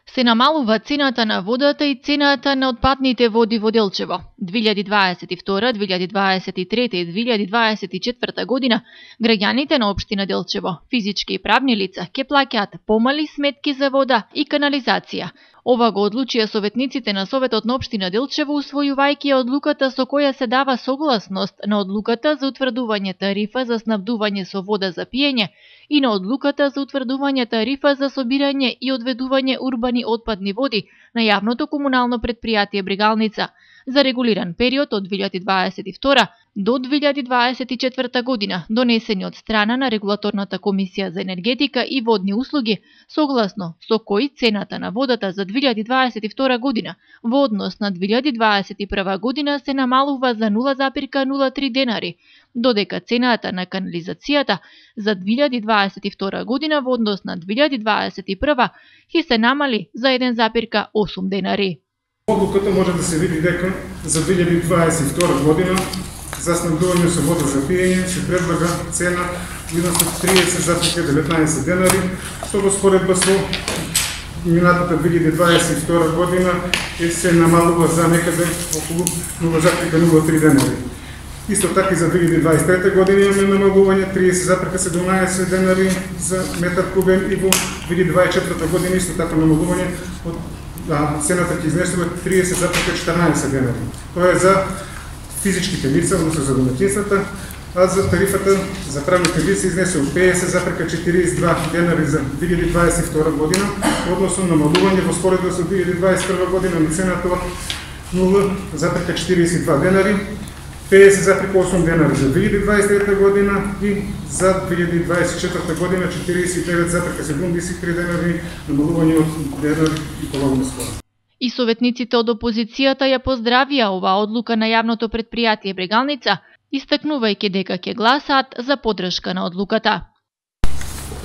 Се намалува цената на водата и цената на отпадните води во Делчево. 2022, 2023 и 2024 година граѓаните на општина Делчево, физички и правни лица, ќе плаќаат помали сметки за вода и канализација. Ова го одлучија советниците на Советот на општина Делчево, усвојувајќи одлуката со која се дава согласност на одлуката за утврдување тарифа за снабдување со вода за пиење и на одлуката за утврдување тарифа за собирање и одведување урбани отпадни води на јавното комунално претпријатие Брегалница за регулиран период од 2022 до 2024 година, донесени од страна на Регулаторната комисија за енергетика и водни услуги, согласно со кој цената на водата за 2022 година во однос на 2021 година се намалува за 0,03 денари, додека цената на канализацијата за 2022 година во однос на 2021 ќе се намали за 1,8 денари. Одлуката може да се види дека за 2022 година за снабдување со вода за пиење се предлага цена во изnos од 30,19 денари, што во споредба со минатата 2022 година се намалува за некаде околу 0,03 денари. Исто така и за 2023 година имаме намалување 30,17 денари за метар кубен и во 2024 година исто така намалување од цената ќе изнесува 30,14 денари. Тоа е за физичките лица, односно за домаќинствата, а за тарифата за правните лица изнесува 50,42 денари за 2022 година, односно намалување во споредба со 2021 година на цената од 0,42 денари, 50,8 денари за 2023 година и за 2024 година 49,73 денари, намалување од денари и половина скоро. И советниците од опозицијата ја поздравија оваа одлука на јавното претпријатие Брегалница, истакнувајќи дека ќе гласаат за поддршка на одлуката.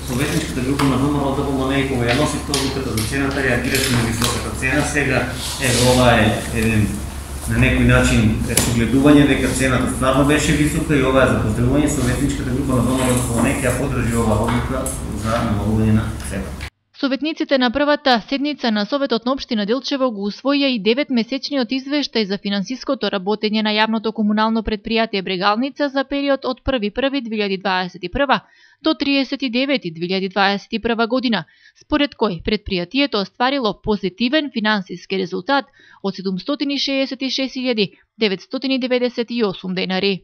Советничката група на ВМРО ДПМН и кога ја носите одлуката за цената, реагираше на високата цена. Сега ова е еден на некој начин согледување дека цената стварно беше висока и ова е за поздравување. Советничката група на ВМРО ДПМН ќе ја поддржи оваа одлука за намалување на цената. Советниците на првата седница на Советот на општина Делчево го усвоија и 9-месечниот извештај за финансиското работење на јавното комунално претпријатие Брегалница за период од 1.1.2021 до 30.9.2021 година, според кој претпријатието остварило позитивен финансиски резултат од 766.998 денари.